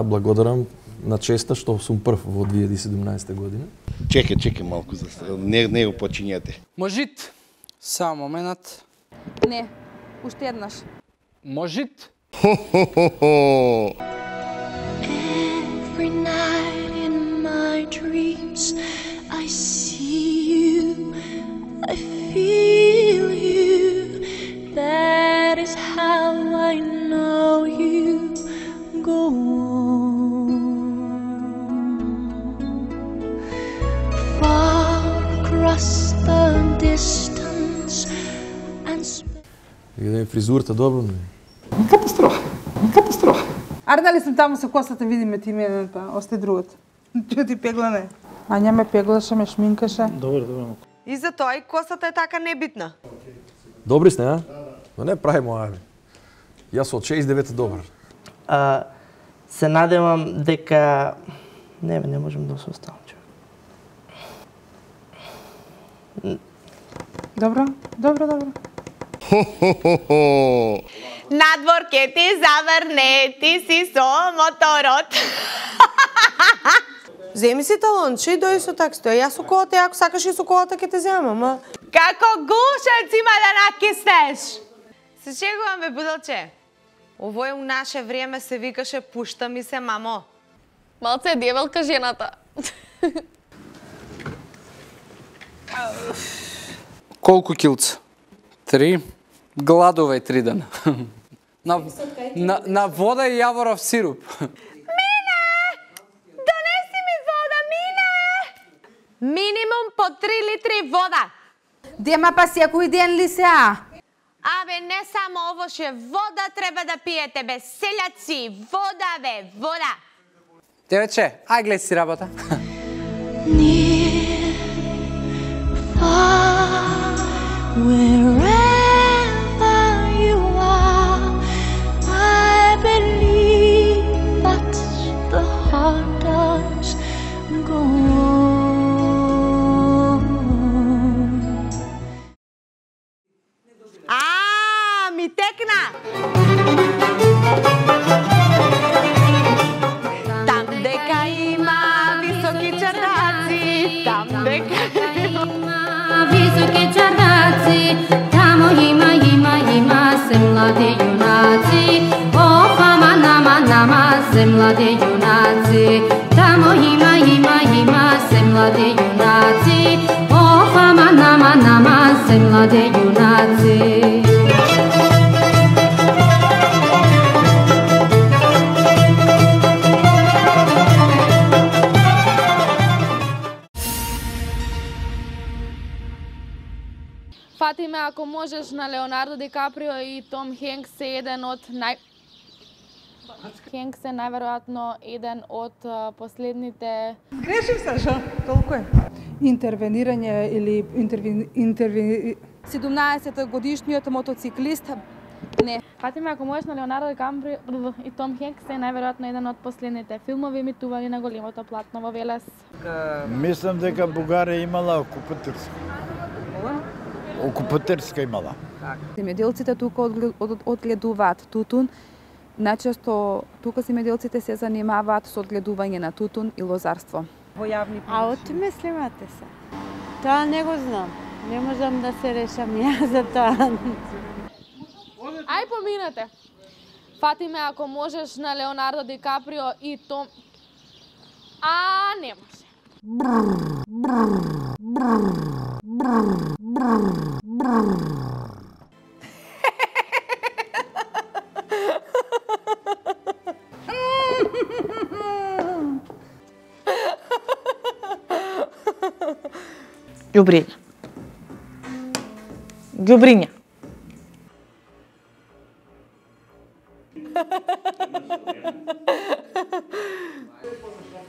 Благодарам на честа што сум прв во 2017 година. Чекај малку, не го почињате. Можит. Само момент. Не, уште еднаш. Можит. Every night in my dreams I see you, I feel you. That is how I know you. Go on, far across the distance and Видеме фризурата добро, не? Катастрофа. Аре, дали сум таму со косата, видиме ти мене, па осте другото. Чу ти пегла не. Ања ме пеглаше, ме шминкаше. Добро. И за тоа и косата е така небитна. Добри сте, а? Но не правимо, ајде. Јас од 69 добар. Се надевам дека не можам да се оставам, човек. Добро. Надвор ке ти заврне, ти си со моторот. Земи си талонче и дојди со таксто. Јас со колата, ако сакаш и со колата ке те земам, а? Како гушец има да накиснеш? Се шегувам, бе, будалче. Овој у наше време се викаше пушта ми се, мамо. Малце е дјевелка жената. Колку килца? 3. Гладовај 3 дена. На вода и јаворов сируп. Мине! Донеси ми вода, Мине! Минимум по 3 литри вода. Дема па секој ден ли се, а? Абе, не само овоше, вода треба да пиете, бе, селјаци, вода, бе, вода. Девече, ај гледай си работа. near, far, wherever you are. I believe that the heart does go on. Ми текна! Там дека има високи чардаци, там дека има високи чардаци, тамо има се млади јунаци. О, фама нама се млади јунаци, тамо има се млади јунаци. О, фама нама се млади јунаци. Фатиме, ако можеш, на Леонардо Ди Каприо и Том Хенкс е најверојатно еден од последните... Грешив, Сашо, толку е. Интервенирање или 17-годишниот мотоциклист. Не. Фатиме, ако можеш, на Леонардо Ди Каприо и Том Хенкс е најверојатно еден од последните филмови емитувани на големото платно во Велес. Мислам дека Бугарија имала окупаторска имала. Земјоделците тука одгледуваат тутун. Најчесто тука земјоделците се занимаваат со одгледување на тутун и лозарство. Во јавни помош. А отмислимате се. Тоа не го знам. Не можам да се решам ја за тоа. Ај поминете. Фатиме, ако можеш, на Леонардо Ди Каприо и Том... не може. Ѓубриња.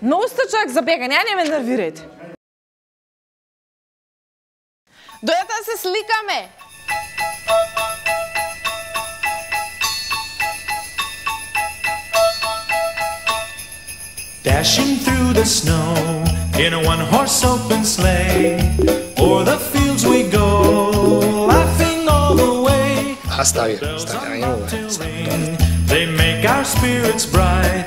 Многу сте човек за бегање, не ме нервирајте. Дојдете да се сликаме. Dashing through the snow in a one-horse open sleigh, o'er the fields we go, laughing all the way. They make our spirits bright